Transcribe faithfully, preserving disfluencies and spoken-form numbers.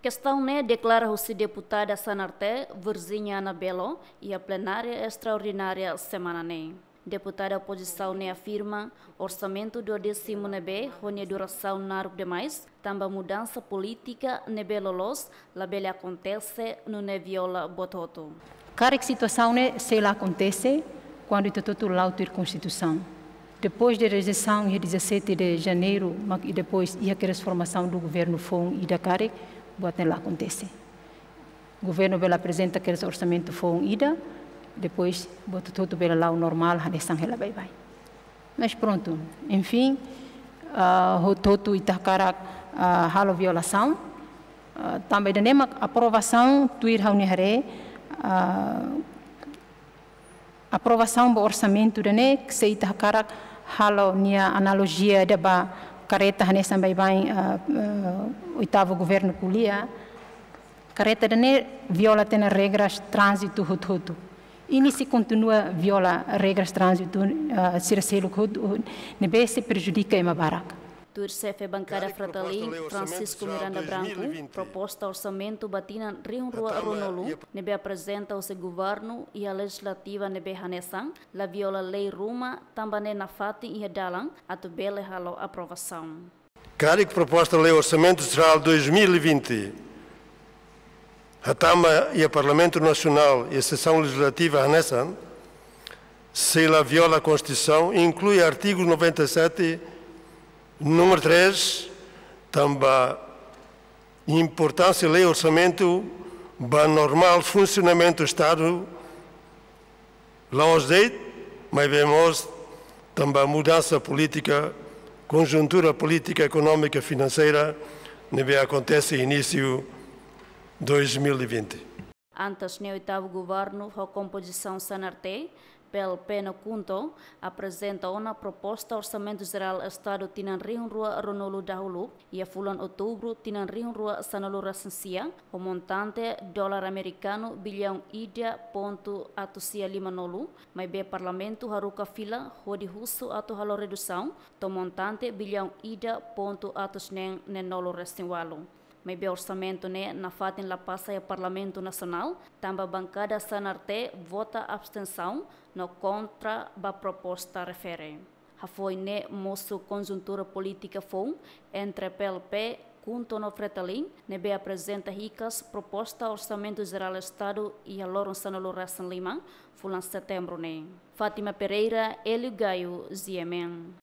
Kestaun ne'e deklara husi deputada Sanarte, Virginia Ana Belo, iha plenária estraordinária semana ne'e. Deputada opozisaun ne'e afirma, orsamentu duodésimu ne'ebé ho nia durasaun naruk demais, tanba mudansa polítika ne'ebé loloos, labele akontese, nune'e viola buat hotu. Karik situasaun ne'e sei la akontese, kuandu ita hotu-hotu la'o tuir Konstituisaun. Depois de rejeisaun iha dezassete de Janeiro, mak, i depois iha kedas formasaun do governu foun ida karik, buat ne'e la akontese. Governu bele aprezenta kedas orsamentu foun ida, depois buat hotu-hotu bele la'o normál, hanesan hela baibain. Mas prontu, enfim, ah, hotu-hotu ita hakarak, ah, halo violasaun, ah, tanba ida-ne'e mak aprovasaun tuir ha'u-nia haree, ah, aprovasaun ba orsamentu ida-ne'e, se ita hakarak halo nia analojia ida ba kareta hanesan baibain, ah, ah, oitavu governu ko'alia, kareta ida-ne'e viola tiha ona regras tránzitu hotu-hotu. I nia sei kontinua viola regras tránzitu, ah, sira seluk hotu, ne'ebé sei prejudika ema barak. Tuir xefe bankada Fretilin, Francisco Miranda Branco, proposta orsamentu ba tinan rihun rua ruanulu, ne'ebé aprezenta husi governu iha lejizlativa ne'ebé hanesan, la viola lei ruma, tanba ne'e nafatin iha dalan atu bele halo aprovasaun. Karik proposta lei Orsamentu Jerál dois mil e vinte hatama iha Parlamentu Nasionál iha sesaun lejizlativa hanesan, sei la viola Konstituisaun, inklui artigu noventa e sete, númeru três, tanba importánsia lei orsamentu ba normál funsionamentu Estadu, la'ós de'it, maibé mós tanba mudansa polítika, konjuntura polítika, ekonómika, finanseira, ne'ebé akontese inísiu dois mil e vinte. Antes ne'e oitavu governu ho kompozisaun Sanarte, P L P no KHUNTO, aprezenta ona proposta Orsamentu Jerál Estadu tinan rihun rua ruanulu dahuluk, iha fulan Outubru tinan rihun rua sanulu-resin-sia, ho montante dolar amerikanu biliaun ida pontu atus sia limanulu, maibé Parlamentu haruka fila hodi husu atu halo redusaun, to'o montante biliaun ida pontu atus neen neenulu-resin-ualu. Maibé orsamentu ne'e nafatin la pasa iha Parlamentu Nasionál, tanba bankada Sanarte vota abstensaun no kontra ba proposta refere. Hafoin ne'e mosu konjuntura polítika foun entre P L P, KHUNTO no Fretilin, ne'ebé aprezenta hikas proposta Orsamentu Jerál Estadu iha loron sanulu-resin-lima, fulan Setembru ne'e. Fátima Pereira, Hélio Gaio, G M N.